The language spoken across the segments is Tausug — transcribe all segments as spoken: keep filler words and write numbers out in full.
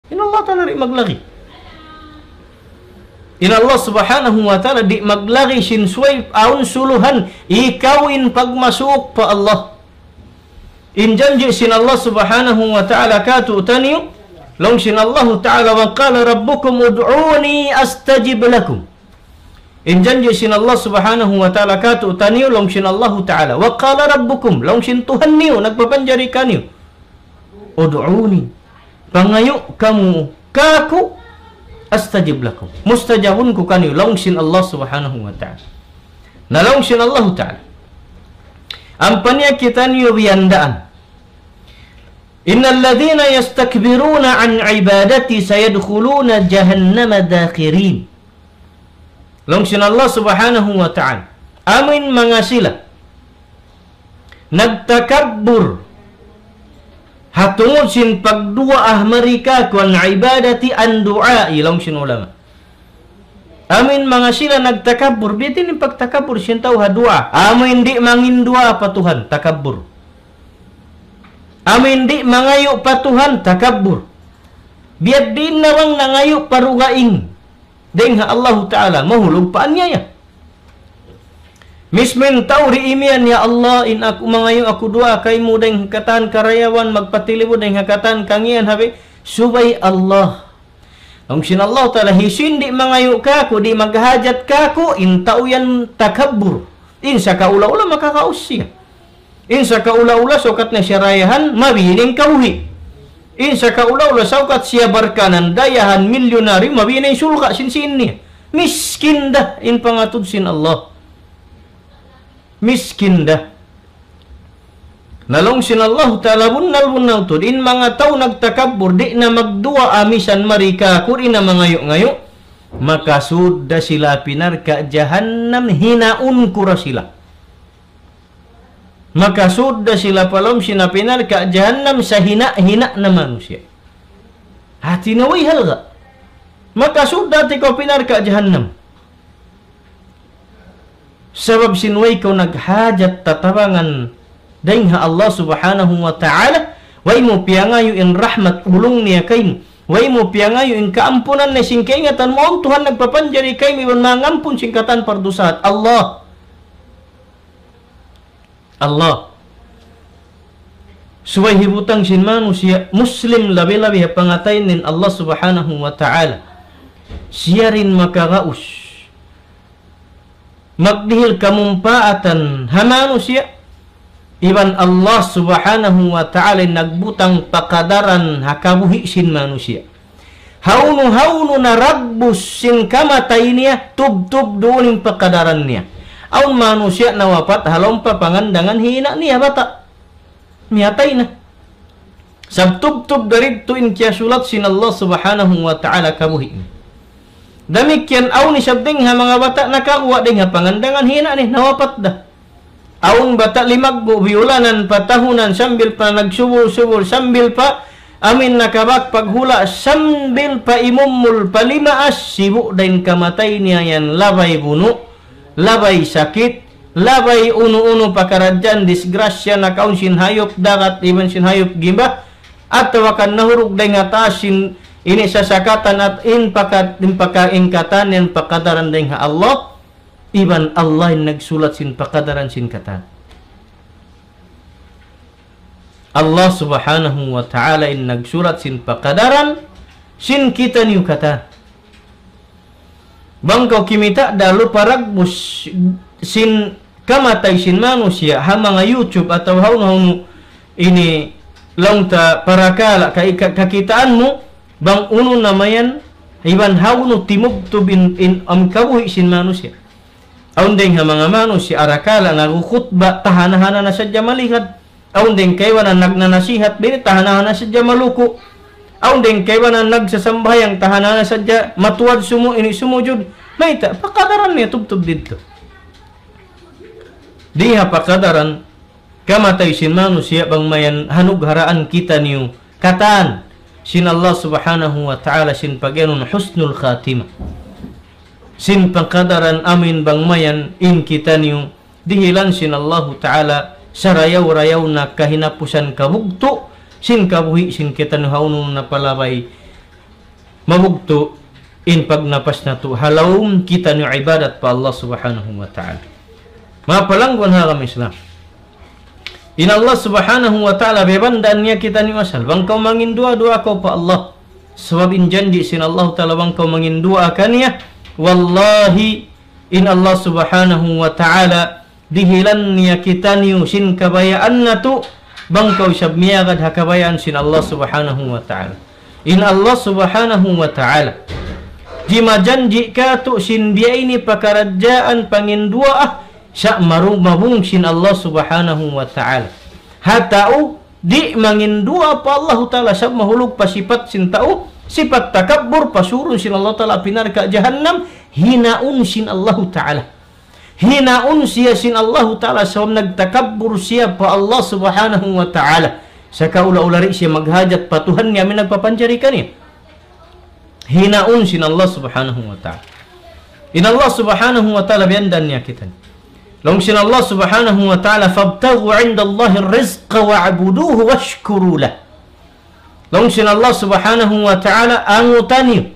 In Allah Ta'ala di' maglagi. In Allah Subhanahu wa Ta'ala di' maglagi sin subay awn suluhan, ikaw in pagmasuuk pa Allah. In janji' sin Allah Subhanahu wa Ta'ala kātu'niyu, laung sin Allah Ta'ala, وقال ربكم ادعوني أستجب لكم. In janji' sin Allah Subhanahu wa Ta'ala kātu'niyu, laung sin Allah Ta'ala, وقال ربكم, laung sin Tuhan niyu, nagpapanjari kaniyu, ادعوني, pangayu' kamu kāku', أستجب لكم, mustajabun ku kaniyu, laung sin Allah Subhanahu wa Ta'ala. Na laung sin Allah Ta'ala, ampa niya kitaniyu biyandaan. إن الذين يستكبرون عن عبادتي سيدخلون جهنم داخرين. Laung sin Allah Subhanahu wa Ta'ala, amuin manga sila nagtakabbur ha tungud sin pagduwaa mari kāku', عن عبادتي, عن دعائي, laung sin ulama. Amuin manga sila nagtakabbur, biya' diin in pagtakabbur sin tau ha duwaa. Amuin di' mangayu' duwaa pa Tuhan, takabbur. Amuin di' mangayu' pa Tuhan, takabbur. Biya' diin na bang nangayu' pa dugaing dayn ha Allahu Ta'ala, mahulug pa aniyaya. Mismu in tau di' imiyan, "Ya Allah, in aku mangayu' aku duwaa kaymu dayn ha katan karayawan, magpatilibut dayn ha katan kangian habi," subay Allah. Laung sin Allah Ta'ala, hisiyu in di' mangayu' kāku', di' maghajat kāku', in tau yan takabbur. In sakaula-ula makakaus siya. In sakaula-ula sukat na siya dayahan, mabīning kabuhi'. In sakaula-ula sukat siya barkanan, dayahan, milyunaryu, mabīning sulga' sin sīn niya. Miskin da in pangatud sin Allah. Miskin da. Na laung sin Allah Ta'ala bunnal-bunnal tuud, in manga tau nagtakabbur, di' na magduwaa misan mari kāku', di' na mangayu'-ngayu', makasud da sila pa narka' jahannam, hinaun ku da sila. Makasud da sila pa lawm sin api narka' jahannam sahina-hina na manusiya'. Hāti niya way halga'. Makasud da tikaw pa narka' jahannam. Sabab sin way kaw naghajat tatabangan dayn ha Allah Subhanahu wa Ta'ala, way mu piyangayu' in rahmat ulung niya kaymu, way mu piyangayu' in kaampunan niya sin kaingatan mu, awn Tuhan nagpapanjari kaymu iban mangampun sin katan pardusahan. Allah. Allah. Subay hibutang sin manusiya' Muslim labi-labi ha pangatayan sin Allah Subhanahu wa Ta'ala. Siya da in makagaus magdihil kamumpaatan ha manusiya', iban Allah Subhanahu wa Ta'ala in nagbutang pakadaran ha kabuhi' sin manusiya'. Hawnu-hawnu na dagbus sin kamatay niya, tubtub duun in pakadaran niya. Awn manusiya' nawapat ha lawm pa pangandangan hi ina' niya bata'. Miyatay na. Sabab tubtub dayn didtu in kiyasulat sin Allah Subhanahu wa Ta'ala kabuhi' niya. Damikkiyan awn isab dayn ha manga bata' nakaguwa' dayn ha pangandangan hi ina' niya, nawapat da. Awn bata' limaggu', biyulanan pa tahunan, sambil pa nagsubul-subul, sambil pa amuin nakabak paghula', sambil pa imumul, pa limaas, sibu' da in kamatay niya yan, labay bunu', labay sakit, labay unu-unu pakaradjaan, disgrasya, nakaun sin hayup dagat, iban sin hayup gimba, atawa kan nahurug dayn ha taas sin ini sasakatan at in pakat-, in pakaingkatan yan pakadaran dayn ha Allah, iban Allah in nagsulat sin pakadaran sin katan. Allah Subhanahu wa Ta'ala in nagsulat sin pakadaran sin kitaniyu katan. Bang kaw kimita' da lupa dagbus sin kamatay sin manusiya' ha manga YouTube atawa hawnu-hawnu ini laung ta parakala' ka-, ka-, kakitaan mu, bang unu na mayan, iban hawnu timubtub in, in amu in kabuhi' sin manusiya'. Awn dayn ha manga manusiya' arakala' nagkhutba, tahan-tahanan na sadja malihat. Awn dayn kaibanan nagnanasihat, bini tahan-tahanan na sadja maluku'. Awn dayn kaibanan nagsasambahayang, tahan-tahanan na sadja matuwad sumu-, ini sumujud. Mayta', pakadaran niya tubtub didtu. Di' ha pakadaran kamatay sin manusiya' bang mayan hanugharaan kitaniyu katan sin Allah Subhanahu wa Ta'ala sin pagiyanun husnul khatimah. Sin pakadaran amuin bang mayan in kitaniyu dihilan sin Allahu Ta'ala sarayaw-rayaw na kahinapusan kabugtu' sin kabuhi' sin kitaniyu hawnu na palabay mabugtu' in pagnapas natu' ha lawm kitaniyu ibadat pa Allah Subhanahu wa Ta'ala. Manga palangguan ha agama Islam. In Allah Subhanahu wa Ta'ala biyabandaan niya kitaniyu asal. Bang kaw manginduwaa-duwaa kaw pa Allah. Sabab in janji' sin Allah Ta'ala bang kaw manginduwaa kaniya. Wallahi, in Allah Subhanahu wa Ta'ala dihilan niya kitaniyu sin kabayaan natu', bang kaw isab miyagad ha kabayaan sin Allah Subhanahu wa Ta'ala. In Allah Subhanahu wa Ta'ala dimajanji' katu' sin biya' ini pakaradjaan panginduwaa, sa' marumabung sin Allah Subhanahu wa Ta'ala. Ha tau di' manginduwaa pa Allahu Ta'ala, sa' mahulug pa sipat sin tau, sipat takabbur, pasurun sin Allah Ta'ala api narka' jahannam, hinaun sin Allahu Ta'ala. Hinaun siya sin Allahu Ta'ala, sabab nagtakabbur siya pa Allah Subhanahu wa Ta'ala. Sakaula-ula di' siya maghajat pa Tuhan niya amu in nagpapanjari kaniya. Hinaun sin Allah Subhanahu wa Ta'ala. In Allah Subhanahu wa Ta'ala biyandaan niya kitaniyu. Laung sin Allah Subhanahu wa Ta'ala, فابتغوا عند الله الرزق واعبدوه واشكروا له. Laung sin Allah Subhanahu wa Ta'ala, anguta niyu.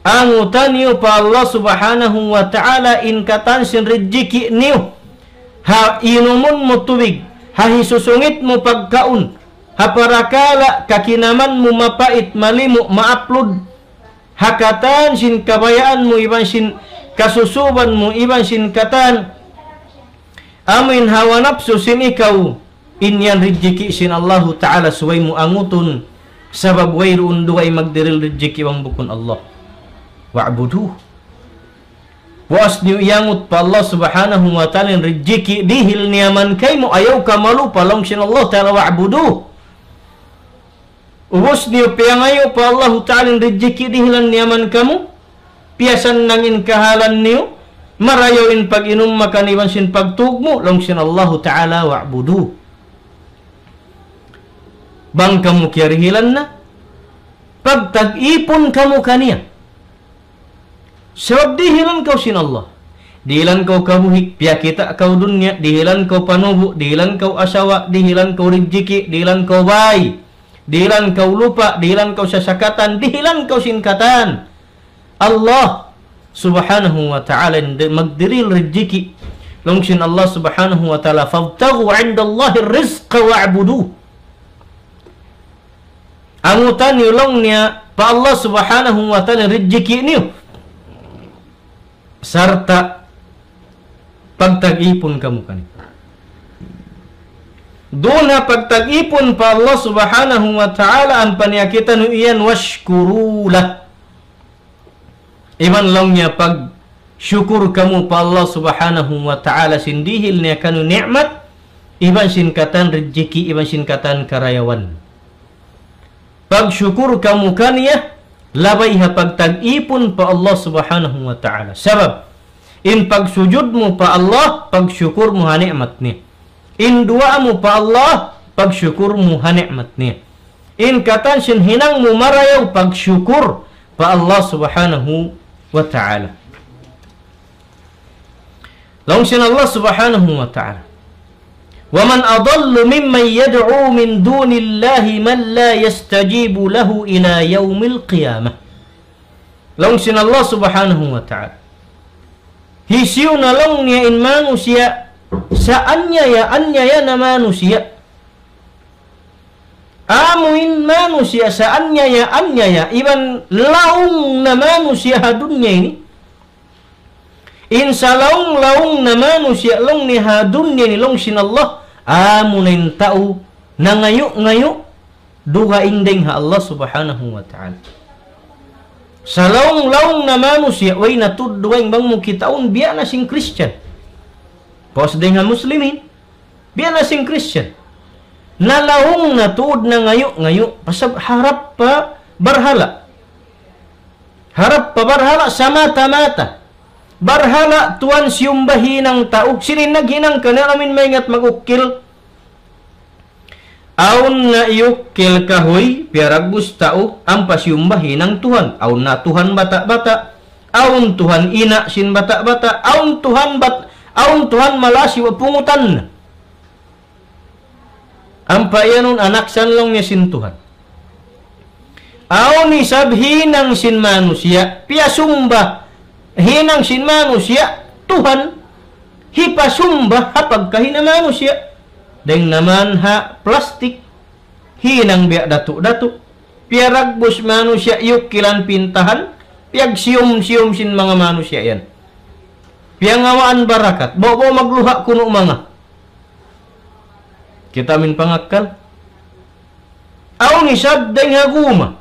Anguta niyu pa Allah Subhanahu wa Ta'ala in katan sin rijiki' niyu. Ha inumun mu tubig, ha hisusungit mu pagkaun, ha parakala' kakinaman mu mapait, malimu', maaplud, ha katan sin kabayaan mu iban sin kasusuban mu iban sin katan amu in hawa napsu sin ikaw, in yan rijiki' sin Allahu Ta'ala subay mu angutun, sabab wayruun dugaing magdiril rijiki' bang bukun Allah. واعبدوه. Puas niyu iyangut pa Allah Subhanahu wa Ta'ala in rijiki' dihil niya man kaymu, ayaw kaw malupa, laung sin Allah Ta'ala, واعبدوه. Ubus niyu piyangayu' pa Allahu Ta'ala in rijiki' dihilan niya man kamu, piyasannang in kahalan niyu, marayaw in pag-inum makan iban sin pagtug mu, laung sin Allahu Ta'ala, واعبدوه. Bang kamu kiyarihilan na, pagtag-ipun kamu kaniya. Sabab dihilan kaw sin Allah. Dihilan kaw kabuhi', piyakita' kaw dunya, dihilan kaw panubu', dihilan kaw asawa, dihilan kaw rijiki', dihilan kaw bāy, dihilan kaw lupa', dihilan kaw sasakatan, dihilan kaw sin katan. Allah Subhanahu wa Ta'ala in di-, magdiril rijiki'. Laung sin Allah Subhanahu wa Ta'ala, فابتغوا عند الله الرزق واعبدوه. Anguta niyu laung niya pa Allah Subhanahu wa Ta'ala rijiki' niyu. Sarta' pagtag-ipun kamu kaniya. Duun ha pagtag-ipun pa Allah Subhanahu wa Ta'ala ampa niya kitaniyu iyan واشكروا له. Iban laung niya pagsukur kamu pa Allah Subhanahu wa Ta'ala sin dihil niya kaniyu ni'mat, iban sin katan rijiki', iban sin katan karayawan. Pagsukur kamu kaniya, labay ha pagtag-ipun pa Allah Subhanahu wa Ta'ala. Sabab, in pagsujud mu pa Allah, pagsukur mu ha ni'mat niya. In duwaa mu pa Allah, pagsukur mu ha ni'mat niya. In katan sin hinang mu marayaw, pagsukur pa Allah Subhanahu wa Ta'ala. Laung sin Allah Subhanahu wa Ta'ala, ومن أضل ممن يدعو من دون الله من لا يستجيب له إلى يوم القيامة. Laung sin Allah Subhanahu wa Ta'ala, hisiyu na laung niya in manusiya' saanyaya-anyaya na manusiya'. Amu in manusiya' saanyaya-anyaya, iban laung na manusiya' ha dunya ini. In salaung-laung na manusiya' laung niya ha dunya ini laung sin Allah, amu na in tau nangayu'-ngayu' dugaing dayn ha Allah Subhanahu wa Ta'ala. Salaung-laung na manusiya', way na tuud dugaing bang mu kitaun biya' na sin Christian. Puas dayn ha Muslimin, biya' na sin Christian. Nalaung na tuud nangayu'-ngayu', pasal harap pa barhala'. Harap pa barhala' samata-mata. Barhala' tuwan siyumba hinang tau. Sin in naghinang kaniya amin maingat mag-ukil. Awn na iyukil kahuy, piyaragbus tau, ampa siyumba hinang Tuhan. Awn na Tuhan bata'-bata'. Awn Tuhan ina' sin bata'-bata'. Awn Tuhan bat-, awn Tuhan malasi wa pungutan. Ampa iyanun anak san laung niya sin Tuhan. Awn isab hinang sin manusiya', piyasumba, hinang sin manusiya', Tuhan, hipasumba ha pagkahi na manusiya'. Dayng naman ha plastik, hinang biya' datu'-datu'. Piyaragbus manusiya', iyukilan pintahan, piyagsiyum-siyum sin manga manusiya' yan. Piyangawaan barakat, bawa-bawa magluha kunu' manga. Kita' amin pangakkal. Awn isab dayng ha guma.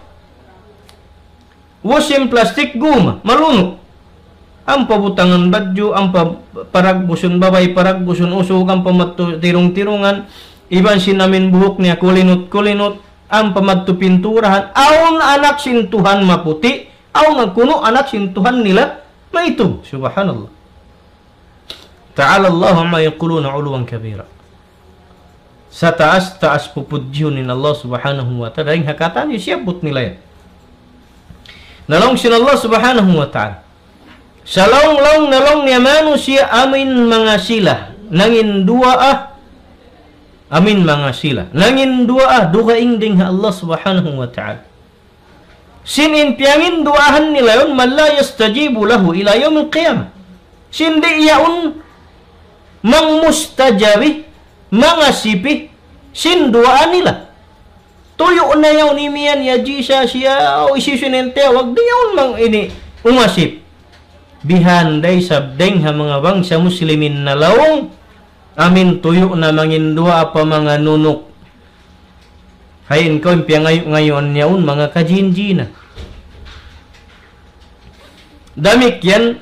Washing plastic guma, malunu'. Ampa butangan badju', ampa paragbusun babai, paragbusun usug, ampa madtu tirung-tirungan, iban sin amin buhuk niya kulinut-kulinut, ampa madtu pinturahan. Awn anak sin Tuhan maputi', awn kunu' anak sin Tuhan nila maitung. Subhanallah. تعالى الله عما يقولون علوا كبيرا. Sataas-taas pupudjihun in Allah Subhanahu wa Ta'ala. Dayng ha katan siyabut nila yan. Na laung sin Allah Subhanahu wa Ta'ala, sa laung-laung na laung niya manusiya' amin manga sila nangin duwaa, amin manga sila nangin duwaa, dugaing dayng ha Allah Subhanahu wa Ta'ala. Sin in piyanginduwaahan nila yaun, من لا يستجيب له إلى يوم القيامة. Sin di' yaun mangmustajabi, mangasipi sin duwaa nila. Tuyu' na yaun imiyan, ya Jesus, ya, o, isi-isi na in tiyawag, di' yaun mang ini umasip. Bihan da isab dayng ha manga bangsa Muslimin na laung, amin tuyu' na manginduwaa pa manga nunuk. Hain kaw in piyangayu'-ngayuan niya yaun manga kajin-jina. Damikkiyan,